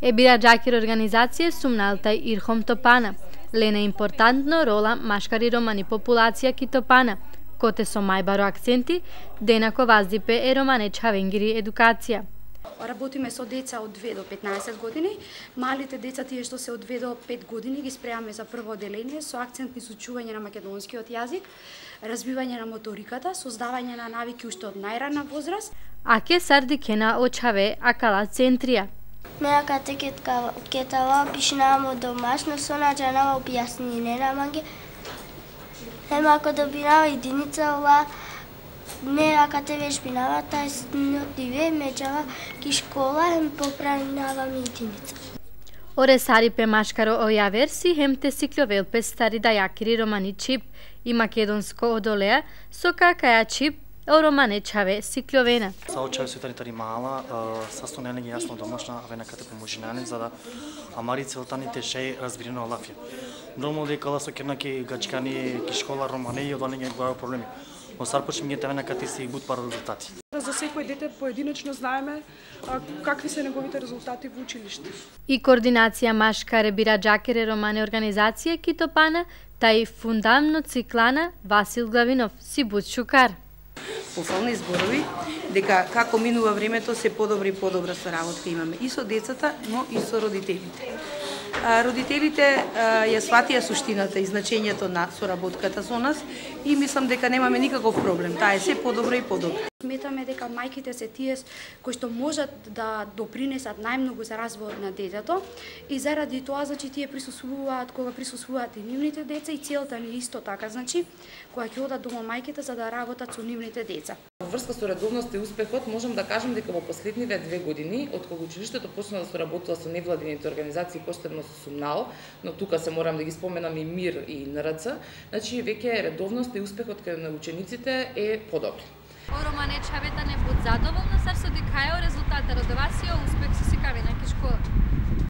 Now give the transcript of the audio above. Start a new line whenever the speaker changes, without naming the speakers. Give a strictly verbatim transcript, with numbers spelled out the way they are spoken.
Е бира џакир организација сумналтай ирхом топана. Лене импортантно рола машкари романи популација ки топана. Коте со мајбаро акценти, денако ваздипе е романе чавенгири едукација.
Работиме со деца од две до петнаесет години. Малите деца, тие што се од две до пет години, ги спремаме за прво оделение со акцент на изучување на македонскиот јазик, развивање на моториката, создавање на навики уште од најрана возраст.
Аке сардикена очаве акала центрија.
Меја кате кетава пишнамо домашно со наџанава објаснење на манги. Ема ако добинава единица ова меја кате вежбинава тај снотиве меѓава ки школа ем поправинаваме единица.
Оре сарипе машкаро оја верси хемте сикловелпе стари дајакири романи чип и македонско одолеа со какаја чип о романе чаве сикловена.
Са очаве светаритари мала, састојане ги јасно домашна вена кате поможинани за да амари целтаните шеј разбирено лафија. Нормално дека со кернаки гачкани ки школа романе и одане ги глава проблеми. Но сар почнем ги тевена кате си гуд пар резултати.
За секој дете поединечно знаеме какви се неговите резултати во училиште.
И координација машкаре бира џакере романе организација ки топана, тај фундамно циклана Васил Главинов си буд шукар.
Пофални зборови дека како минува времето се подобри и подобра соработка имаме и со децата, но и со родителите. Родителите ја сватија суштината и значењето на соработката со нас и мислам дека немаме никаков проблем. Таа е се подобро и подобро.
Сметаме дека мајките се тие кои што можат да допринесат најмногу за развојот на детето и заради тоа значи тие присуствуваат кога присуствуваат и нивните деца и целта ни исто така значи кога ќе одат дома мајките за да работат со нивните деца.
Во врска со редовноста и успехот можам да кажам дека во последниве две години од кога училиштето почна да соработува со невладините организации, посебно со Сумнал, но тука се морам да ги споменам и МИР и ен ер це, значи веќе редовноста и успехот кај на учениците е подобри.
О романе чавета не буд задоволна, сар со дикајо резултата родовасио успех со сикавина ки школа.